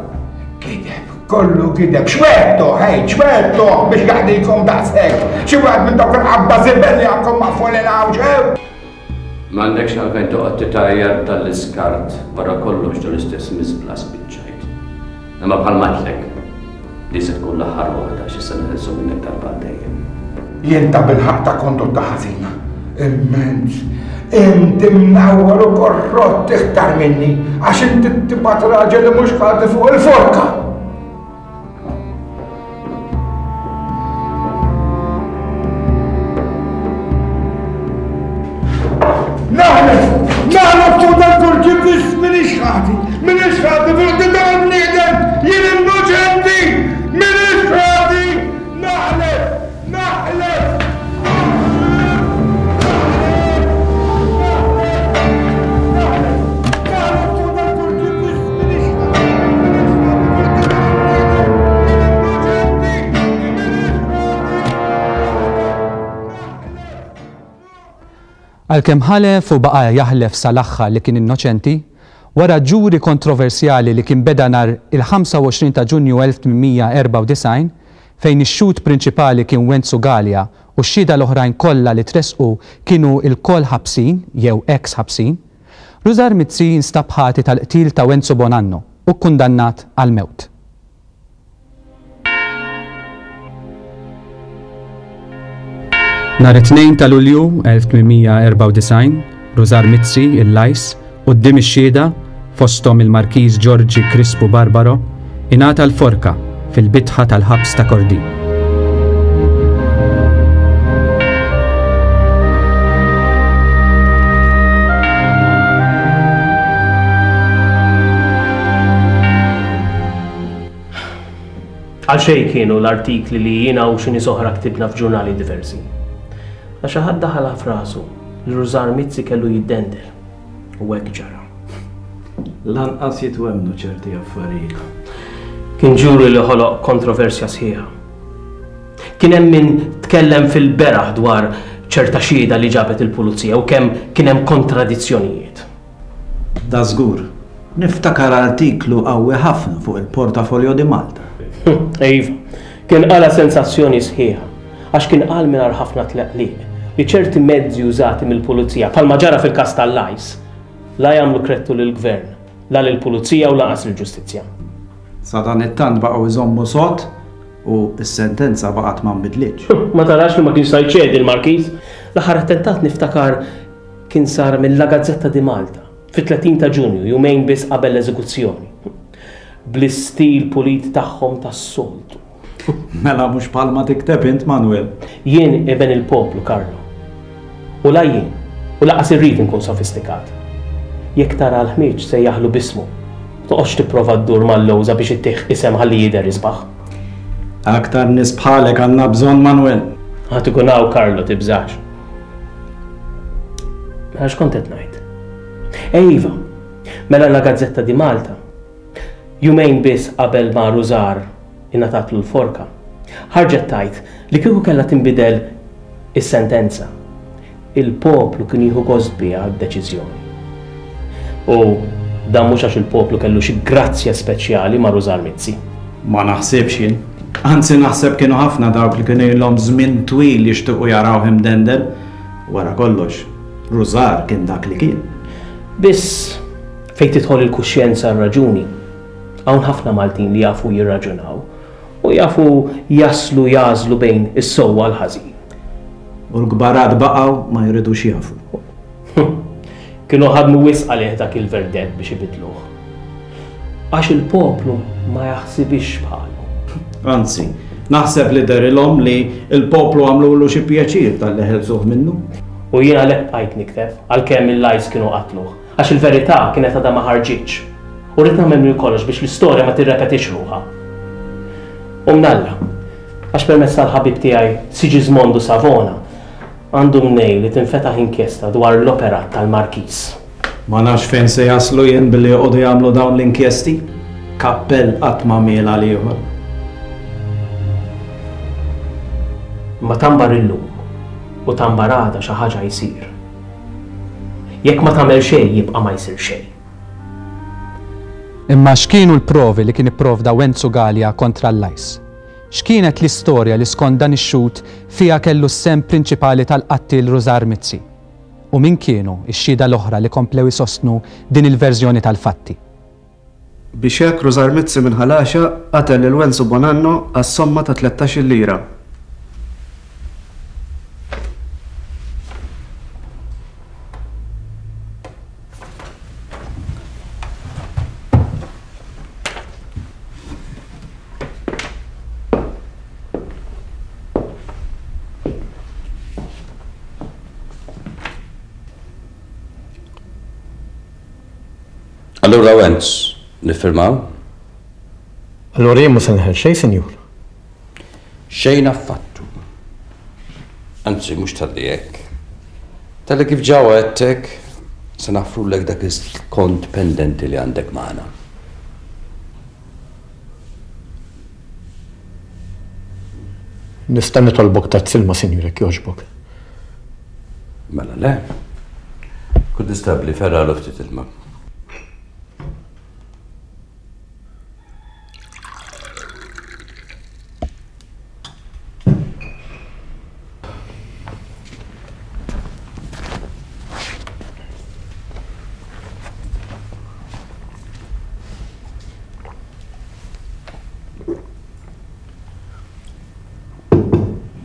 Gideb, kollu gideb, xwedtu, hej, xwedtu biex jaħdikom daqshekk. Xi wieħed minn dawk il-qabba żibel li għandkom maqfulin hawn ġew. M'għandekx għalfejn toqgħod titgħajjar tal-iskart wara kollox tal-istess miżbla spiċċajt. Imma bħal matlek, li se tkun l-aħħar waħda xi se neħilsu minnek darba għal dejjem. Jien ta' bilħaqq ta' kondotta ħażina. Immens. Inti mnawwar u korrott iktar minni għax inti tibgħat raġel li mhux ħati fuq il-forka. Naħlef! Naħlef fuq dal-kurċifiss m'iniex ħati! M'iniex ħati fuq dan bniedem! Jien innoċenti! M'iniex ħati! Naħlef! Naħlef! Għalkemm ħalef u baqa' jaħlef sal-aħħar li kien innoċenti, wara ġuri kontroversjali li kien beda nhar il-ħamsa u għoxrin ta' Ġunju elf tmien erba' u disgħin, fejn ix-xhud prinċipali kien Wenzu Galea u x-xhieda l-oħrajn kollha li tresqu kienu lkoll ħabsin jew ex ħabsin, Rużar Mizzi instab ħati tal-qtil ta' Wenzu Bonanno u kkundannat għal mewt. Nhar it-tnejn ta' Lulju elf tmien mija erbgħa u disgħin, Rużar Mizzi, il-Lajs, quddiem ix-xhieda, fosthom il-Markiż Ġorġi Crispu Barbaro, ingħata l-forka fil-bitħa tal-ħabs ta' Kordin. Għal xejn kienu l-artikli li jiena u xi nies oħra ktibna f'ġurnali diversi. Għax xi ħadd daħalha f'rasu li Rużar Mizzi kellu jiddendel. U hekk ġara. Lanqas jitwemmnu ċerti affarijiet. Kien ġuri li ħoloq kontroversja sħiħa. Kien hemm min tkellem fil-beraħ dwar ċerta xhieda li ġabet il-pulizija u kemm kien hemm kontradizzjonijiet. Da żgur, niftakar artiklu qawwi ħafna fuq il-Portafolio di Malta. Iva, kien qala sensazzjoni sħiħa, għax kien qal mingħajr ħafna tleqliq li ċerti mezzi użati mill-pulizija, bħalma ġara fil-każ tal-Lajs, la jagħmlu krettu lill-gvern, la lill-pulizija u lanqas lill-ġustizzja. Sa dan it-tant baqgħu jżommu sod u s-sentenza baqgħet ma nbidlitx. Ma tarax li ma kienx sa jċedi l-Markiż? L-aħħar attentat niftakar kien sar mill-La Gazzetta di Malta fit-tletin ta' Ġunju, jumejn biss qabel l-eżekuzzjoni. Bl-istil pulit tagħhom tas-soltu. Mela mhux bħalma tikteb int, Manuel. Jien iben il-poplu, Carlo. U la jien, u laqas irrid inkun sofistikat. Jekk tara l-ħmieġ se jaħlu bismu. Toqgħodx tipprova ddur mal-lowża biex ittieħ isem ħalli jidher isbaħ. Aktar nies bħalek għandna bżonn, Manuel. Ħadd ikun hawn, Carlo, tibżax. Mela x'kont qed ngħid? Ejva, mela La Gazzetta di Malta. Jumejn biss qabel ma Rużar ingħatatlu l-forka, ħarġet tajt li kieku kellha tinbidel is-sentenza. Il-poplu kien jieħu gost biha d-deċiżjoni. U dan mhux għax il-poplu kellu xi grazzja speċjali ma' Rużar Mizzi. Ma naħsibx jien. Anzi naħseb kienu ħafna dawk li kienu ilhom żmien twil jixtiequ jarawh imdendel. Wara kollox, Rużar kien dak li kien. Biss fejn tidħol il-kuxjenza r-raġuni, hawn ħafna Maltin li jafu jirraġunaw u jafu jaslu jażlu bejn is-sewwa l-ħażin. U l-kbarat baqgħu ma jridux jafu. Kienu ħadmu wisq għalih dak il-verdett biex ibidluh. Għax il-poplu ma jaħsibix bħalu. Anzi, naħseb li derilhom li l-poplu għamlulu xi pjaċir tal-li ħelsuh minnu. U jien għalhekk bqajt nikteb għalkemm il-lajs kienu qatluh, għax il-verità kienet għadha ma ħarġitx. U rrid nagħmel minn kollox biex l-istorja ma tirrepetix ruħha. U mnalla, għax permezz tal-ħabib tiegħi Sigismondo Savona għandu mnej li tinfetaħ inkjesta dwar l-operat tal-Markiż. Ma nafx fejn se jaslu jien billi joqogħdu jagħmlu dawn l-inkjesti. Kappell qatt ma miel għal ieħor. Ma tambar illum u tambar għada xi ħaġa jsir. Jekk ma tagħmel xejn jibqa' ma jsir xejn. Imma x'kienu l-provi li kien ipprovda Wenzu Galea kontra l-Lajs? X'kienet l-istorja li skont dan ix-xhud fiha kellu s-sehem prinċipali tal-qattiel Rużar Mizzi? U min kienu x-xhieda l-oħra li komplew isostnu din il-verżjoni tal-fatti? Biex hekk Rużar Mizzi minn Ħal Għaxaq qatel lil Wenzu Bonanno għas-somma ta' tlettax-il lira. Allura Wenz, niffirmaw? Allura jien mhux se neħel xejn, sinjur. Xejn affattu. Anzi, mhux talli hekk. Talli kif ġa għedtek, se naffrulek dak il-kont pendenti li għandek magħna. Nista' nitolbok tazz ilma, sinjur, jekk jogħġbok. Mela le. Kun distabbli ferralu ftit ilma.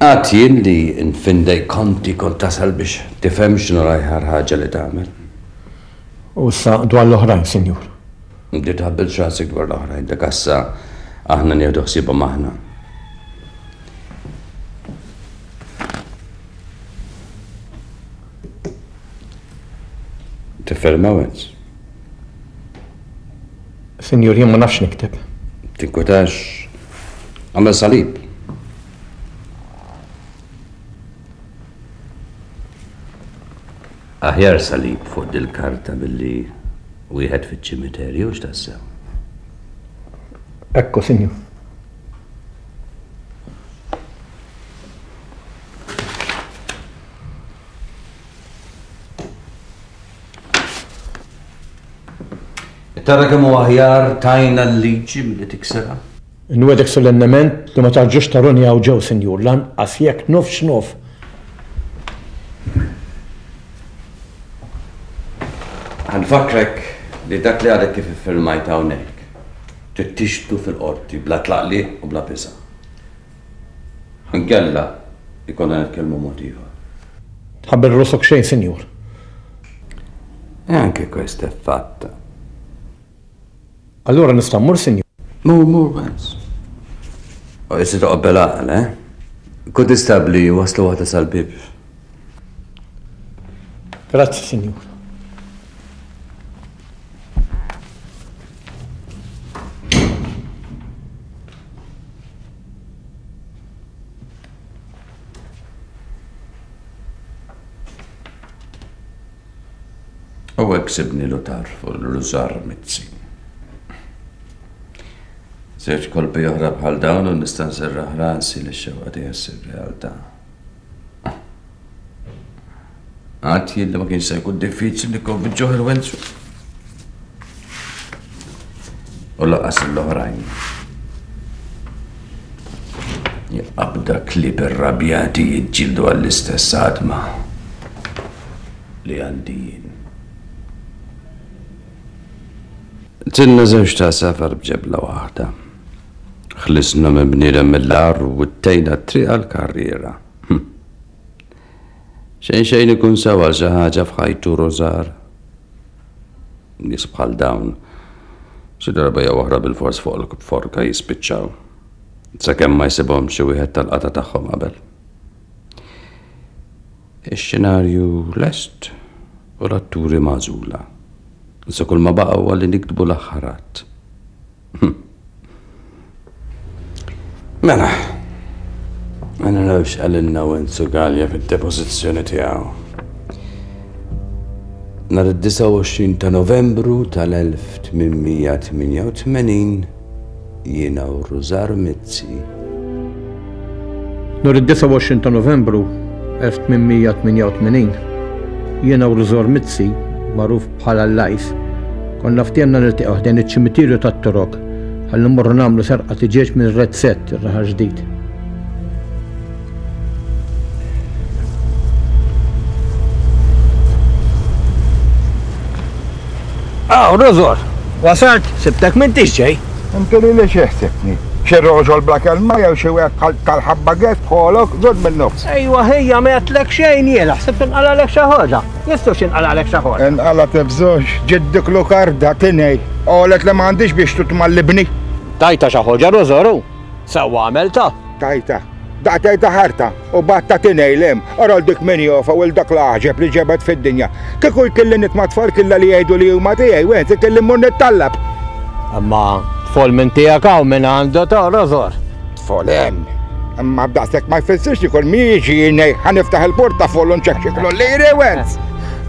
Għad jien li nfindej konti kont tasal biex tifhem x'inhu l-aħjar ħaġa li tagħmel. U issa dwar l-oħrajn, Sinjur. Inti tħabbilx rasek dwar l-oħrajn, dak issa aħna nieħdu ħsiebhom aħna. Tifferma Wenz? Sinjur, jien ma nafx nikteb. Tinkwetax, għamel salib. Aħjar salib fuq dil-karta billi wieħed fiċ-ċimiterju x'tassew. Ekku, Sinjur. Tara kemm hu aħjar tajna l-liġi milli tiksirha? Nwedek solennement li ma tarġux taruni hawn ġew, Sinjur, lanqas jekk nofs x'nof. Ħanfakrek li dak li għadek kif iffirmajt hawnhekk trid tixtu fil-qorti bla tlaqliq u bla biża'. Inkella ikollna nitkellmu mod ieħor. Tħabbel rusok xejn, Sinjur. E anche questa è fatta. Allora nista' mmur, Sinjur? Mur, mur, Wenz. U issa toqgħod bil-għaqal, eh? Kuntistabbli waslu waħda sal-bieb. Grazzi, Sinjur. U hekk sibni l-utar fuq l-Rużar Mizzi. Żewġ kolpi oħra bħal dawn u nista' nserraħ rasi li x-xewqa tiegħi ssir realtà. Għad jien li ma kienx se jkun diffiċli nikkonvinċuh il-Wenzu. U lanqas l-oħrajn. Jaqabda klieb irrabjati jiġġieldu għall-istess għadma li għandi jien. Tinna żewġ ta' safar b'ġebla waħda. Ħlisna minn bniedem mill-agħar u wittejna t-triq għall-karriera. Xejn xejn ikun sewa xi ħaġa f'ħajtu Rużar. Nies bħal dawn xi darba jew oħra bilfors fuq il-forka jispiċċaw. Sakemm ma jsibhom xi wieħed tal-qata tagħhom qabel. Ix-xenarju lest u l-atturi magħżula. Issa kull ma baqa' huwa li niktbu l-aħħar att. Mela, ma narawx qalilna Wenzu Galea fid-depożizzjoni tiegħu. Nhar id-disgħa u għoxrin ta' Novembru tal-elf tmien mija tmienja u tmenin jiena u Rużar Mizzi. Nhar id-disgħa u għoxrin ta' Novembru elf tmien mija tmienja u tmenin jiena u Rużar Mizzi, magħruf bħala l-Lajs, konna ftehemna niltaqgħu ħdejn iċ-ċimiterju tat-Torok ħalli mmorru nagħmlu serqa tiġieġ minn Red Set ir-Raħal Ġdid. Aw, Rużor, wasalt, sibtek m'intix ġej. Inti li li xi ħsibtni? Xi roġol bla kelma jew xi wieħed bħal tal-ħabba gess bħolok, żud min-nofs. Ejwa ħejja ma għedtlek xejn jiena, ħsibt inqalalek xi ħaġa. Jistgħu x'inqalalek xi ħaġa. Inqala tibżux, ġiddik lukarda tinej. Qalet li ma għandix biex tutmallibni. Tajta xi ħaġa Rużoru. Sewwa għamilta. Tajta. Daqtejta ħarta u batta tinej lem. Ara dik min jofa u dak l-għaġeb li ġebet fid-dinja. Kieku jkelli nitma' tfal killa li jgħidu li huma tiegħi, went ikelli mmur nittallab. Imma tfol minn tiegħek hawn minn għandu ta' Rużor. Tfol hemm. Imma b'daqshekk ma jfissirx li kull min jiġi jgħid ħa niftaħ il-portafoll u nċekċeklu liri Wenz.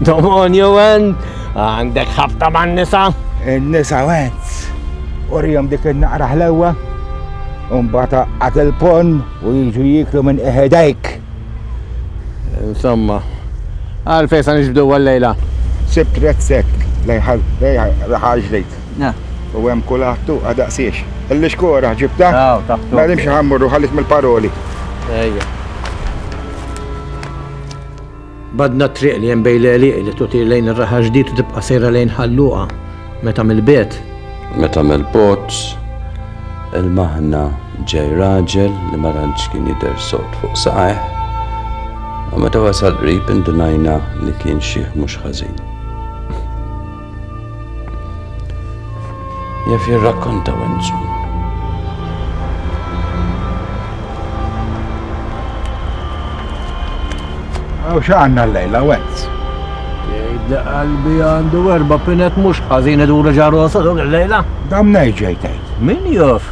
Domonju Wenz, għandek ħabta man-nisa? In-nisa Wenz. Urihom dik in-naqra ħlewwa. U mbagħad għad il-pon u jiġu jieklu minn iħedejk. Insomma, għalfejn sa niġbdu għal-lejla? Sibt Red Set lejn Raħal Ġdid. U hemm kulħadd tuqa daqsiex. Il-xkora ġibta? Aw, taħtu. Ma nimx ħammurru ħallit mill-paroli. Ejja. Badna triq li hemm bejn l-għelieqi li tutir lejn ir-Raħal Ġdid u tibqa' sejra lejn Ħalluqa meta mill-bed. Meta mill-bot il-maħna Ġej raġel li ma tantx kien jidher sod fuq saqajh, u meta wasal qrib indunajna li kien xiħ mhux ħażin. Jaf jirrakkonta Wenzu. Aw x'għandna llejla Wenz? Jgħid li qalbi għandu erba' pinet mhux ħażin iduru ġa rosu dawk illejla. Dan mnejn ġej tgħid? Min jaf?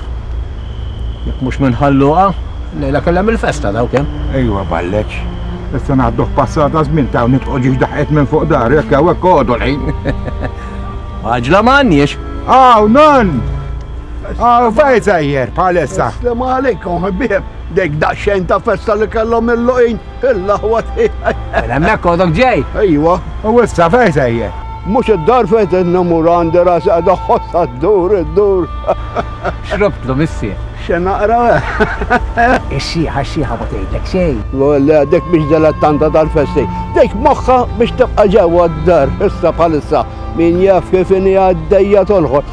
Jekk mhux minn Ħal Luqa, llejla kellhom il-festa dawk hemm. Ejwa balleċ. Issa naħduh passata żmien ta' nitqgħu ġiex daħqet minn fuq dar, jekk hawnhekk għodu l-ħin. Għaġla m'għandniex. Aw, non! Aw, fejn sejjer bħalissa? Assalamu alaikum, ħbieb. Dik daqsxejn ta' festa li kellhom il-luqin, il-laħwa tiegħi. Mela hemmhekk għodok ġej. Ejwa. U issa fejn sejjer? Mhux id-dar fejn qed namur għandi rasi qiegħda ħossha ddur iddur. Xrobtlu missier. Xi naqra. Ix-xieħa x-xieħa ma tgħidlek xejn. Le, dik biex dilettanta tal-festi. Dik moħħha biex tibqa' ġewwa d-dar issa bħalissa. Min jaf kif inhi għaddejja tolħor.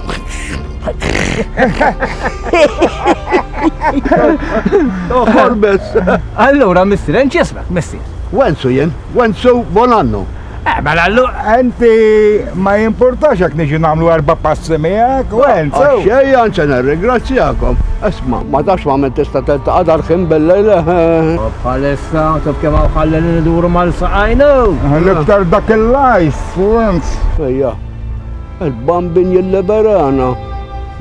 Toħor biss. Allura missier, inti ismek missier? Wenzu jien, Wenzu Bonanno. Eh, mela allura. Inti ma jimpurtax jekk niġi nagħmlu erba' passi miegħek, Wenzu. Xejn, anzi nirringrazzjakom. Isma', ma tafx ma' min tista' tiltaqa' dal-ħin bil-lejl. Bħalissa, taf kemm hawn ħalli nduru mal-saqajnu. L-iktar dak il-lajs, Wenz. Ejja, il-bambin jilliberana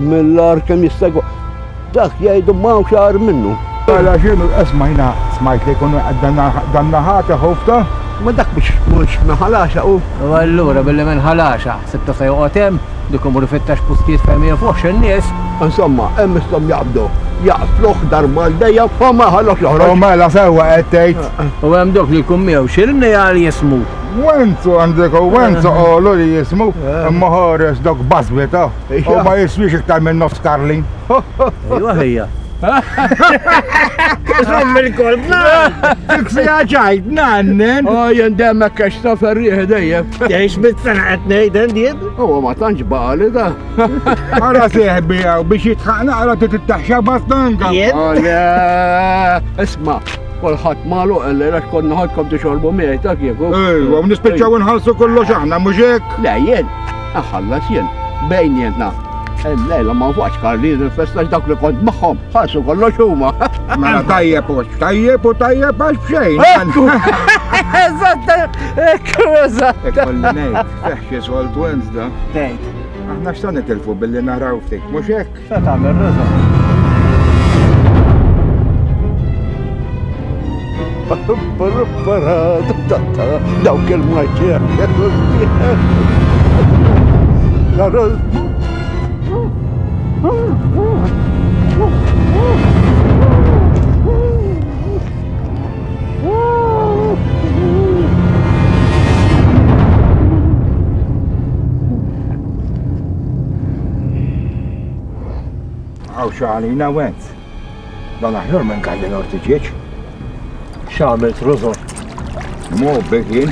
mill-ar kemm jista' jkun. Dak jgħidu ma hawnx agħar minnu. Mela x'inhu, isma' jiena smajt li jkunu dan naħat ħufta. Ma dak biex mhux minn Ħal Għaxaq hu. U allura billi minn Ħal Għaxaq, ħsibtu se joqgħod hemm, dik imur ifittex postijiet fejn ma jafuhx in-nies. Insomma, hemm isthom jaqbdu, jaqtluh darba għal dejjem u ma jħallux joħroġ. U mela sewwa qed tgħid. U hemm dok li jkun miegħu x'irni għal jismu. Wenzu għandek u Wenzu qalu li jismu, imma ħares dok bażbita u ma jiswix iktar minn nofs Karlin. Ejwa ħija. Żomm il-kolb, nan! Dik fiha ċajt, nannen! Oh, jien dejjem hekk għax ta' ferrieħ dejjem. Tgħix mit-sena qed ngħid jien? Huwa ma tantx baqali da. Ara seħbi hawn biex jitħaq naqra titaxxa bastanga. Jien? Oh, le, isma' kulħadd magħluq illejla għax konna ħadkom tixorbu miegħi ta' kieku. Ejwa, u nispiċċaw inħallsu kollox aħna, mhux hekk? Le, jien, aħallas jien, bejnietna. Illejla ma nfuqx Karlin il-festa dawk li kont magħhom, ħallsu kollox huma. Mela tajjeb u tajjeb u tajjeb għax b'xejn. Eżatt, ekku eżatt. Ikolli ngħid, feħ xi sold Wenz da. Tgħid. Aħna x'ta nitilfu billi naraw ftit, mhux hekk? X'ta tagħmel Rosa? Dawk il-maġġer. Għaw xalina Wenz. Dan aħjar minn kalli l-ortiġieċ. X'għamilt Rużor? Mu bik jien,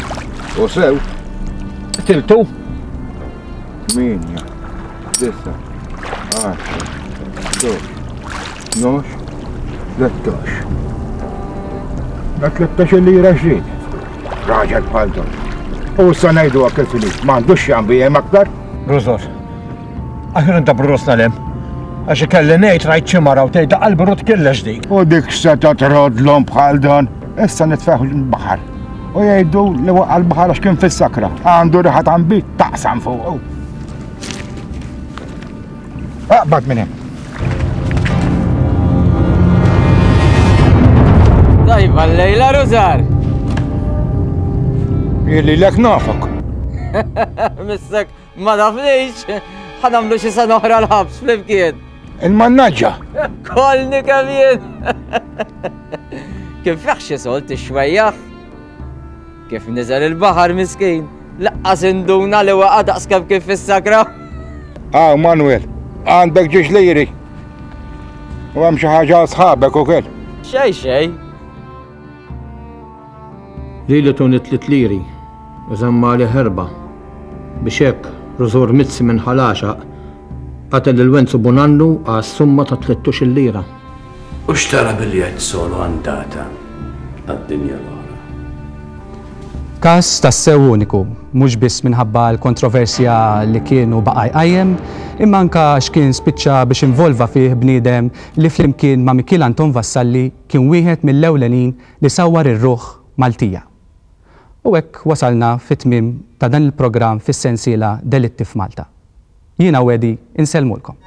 u sew. Tiltu? Tminja, disa, għaxra, ħdax, tnax, tlettax. Da tlettax il-lira xrid. Raġel bħal dan. U issa ngħidu hekk il-finit, m'għandux x'jambi hemm aktar. Rużor, aħjar intabru rosna l-hemm. Għax ikelli ngħid rajt xi mara u tgħid qalbi rod killex dik. U dik x'seta' trodlhom bħal dan. Issa nitfeħ l-baħar. U jgħidu li waqa' l-baħar għax kien fis-sakra. Għandu riħa ta' nbid taqsam fuqu. Aqbad minn hemm. Tajba llejla Rużar. Illi lek nafok. Missek ma nafnix. Ħa nagħmlu xi sena oħra l-ħabs flimkien. Il-mannaġġa. Kolni kemm jien. Kif feħ xi solt ixwejjaħ. Kif niżel il-baħar miskin. Laqqas induna li waqa' daqs kemm kif fis-sakra. Aw Manuel, għandek ġiex liri. U hemm xi ħaġa għal sħabek ukoll. Xej xej. Lili tuni tliet liri, u żamma li ħerba. Biex hekk Rużor Mizzi minn Ħal Għaxaq qatel lil Wenzu Bonannu għas summa ta' tlettux il-lira. U xtara biljett solo andata għad-dinja l-oħra. Każ tassew uniku, mhux biss minħabba l-kontroversja li kien u baqa' jqajjem, imma anke għax kien spiċċa biex involva fih bniedem li flimkien ma' Mikiel Anton Vassalli kien wieħed mill-ewlenin li sawwar ir-ruħ Maltija. U hekk wasalna fit-tmiem ta' dan il-programm fis-sensiela Delitti f'Malta. Jiena u Eddie insellmulkom.